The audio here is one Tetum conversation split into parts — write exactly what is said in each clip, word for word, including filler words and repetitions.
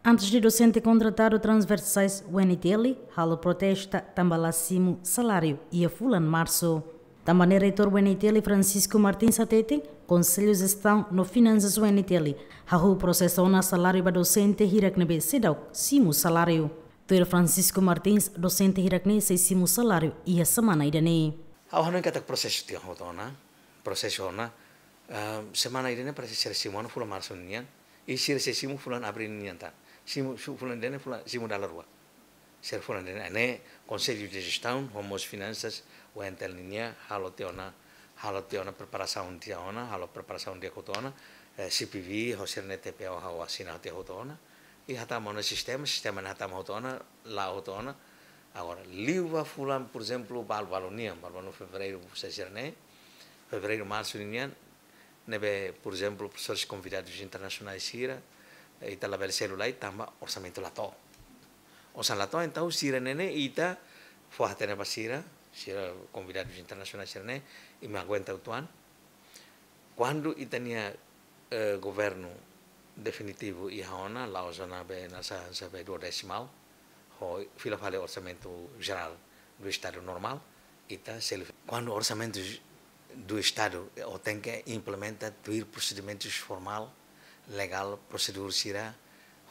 Antes de dosente kontratadu transversais U N T L halo protesta tanba la simu saláriu iha fulan Marsu. Tanba ne'e Reitór U N T L Francisco Martins hateten, Konsellu Jestaun no Finansas U N T L hahú prosesa ona saláriu ba dosente hirak ne'ebé seidauk simu saláriu. Tuir Francisco Martins, dosente hirak ne'e sei simu saláriu iha semana ida-ne'e. Ha'u hanoin katak prosesu tiha hotu ona, prosesu ona, ah, semana ida-ne'e parese sira simu ona fulan Marsu nian, i sira sei simu fulan Abríl nian tan. Simu, su-, fulan ida-ne'e fulan, simu dala rua. Sira fulan ida-ne'e, ne'e Konsellu Jestaun, ho mós Finansas, U N T L nian, halo tiha ona, halo tiha ona preparasaun tiha ona, halo preparasaun tiha hotu ona, eh, C P V, ho sira-nia T P O ha'u asina tiha hotu ona. I hatama ona sistema, sistema ne'e hatama hotu ona, la'o hotu ona. Agora, liu ba fulan, por ezemplu, balu-balu nian, balu-balu Fevereiru, sira-ne'e, Fevereiru, Marsu nian, ne'ebé, por ezemplu, profesores konvidadus internasionais sira, eh, ita labele selu lai tanba orsamentu la to'o. Orsamentu la to'o, entaun sira-ne'e ne'e ita fó-hatene ba sira, sira konvidadus internasionais sira-ne'e, imi aguenta uitoan. Kuandu ita-nia, eh, governu definitivu iha ona, la'ós ona be nasa, nasa be duodesimal, ho fila fali orsamentu jerál do Estadu normál, ita selu. Kuandu orsamentu do Estadu, eh, o tenke implementa tuir prosedimentus formál, legál, prosedura sira,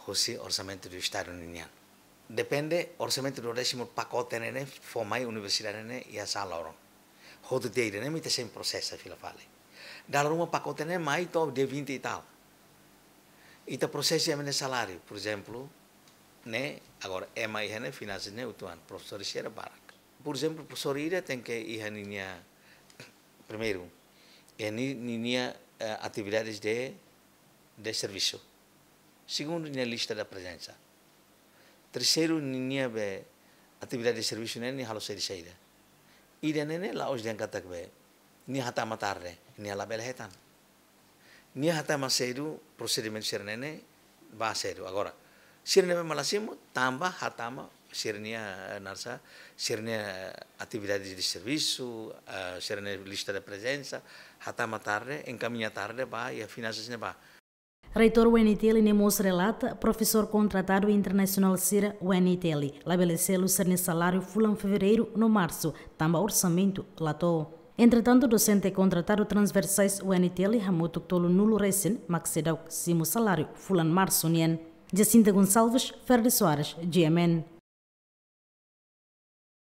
hosi orsamentu do Estadu nian. Depende, orsamentu duodésimu pakote ne'e ne'e fó mai universidade ne'e iha sá loron. Hotu tiha ida-ne'e mak ita sei prosesa fila fali. Dala ruma pakote ne'e mai to'o dia vinte e tal. Ita prosesa ema nia saláriu, por ezemplu, ne'e, agora, ema iha ne'e, finansas ne'e, uitoan, profesór sira barak. Por ezemplu, profesór ida tenke iha ninia, primeiru, iha ni-, ninia, eh, atividades de, de servisu. Segundu, nia lista da prezensa. Terseiru, ninia be atividade de servisu ne'e, nia halo saida-saida. Ida-ne'e ne'e la'ós dehan katak be nia hatama tarde, nia labele hetan. Nia hatama sedu, prosedimentu sira-ne'e ne'e ba sedu. Agora, sira-ne'e be mak la simu, tanba hatama sira-nia, eh, nasa, sira-nia, eh, atividade de servisu, eh, sira-nia lista de prezensa, hatama tarde, enkamiña tarde ba iha finansas ne'ebá. Reitór U N T L ne'e mós relata, profesór kontratadu internasionál sira U N T L labele selu sira-nia saláriu fulan Fevereiru no Marsu, tanba orsamentu la to'o. Entretantu, dosente kontratadu transversais U N T L hamutuk tolunulu resin mak seidauk simu saláriu fulan Marsu nian. Jacinta Gonçalves, Ferdi Soares, G M N.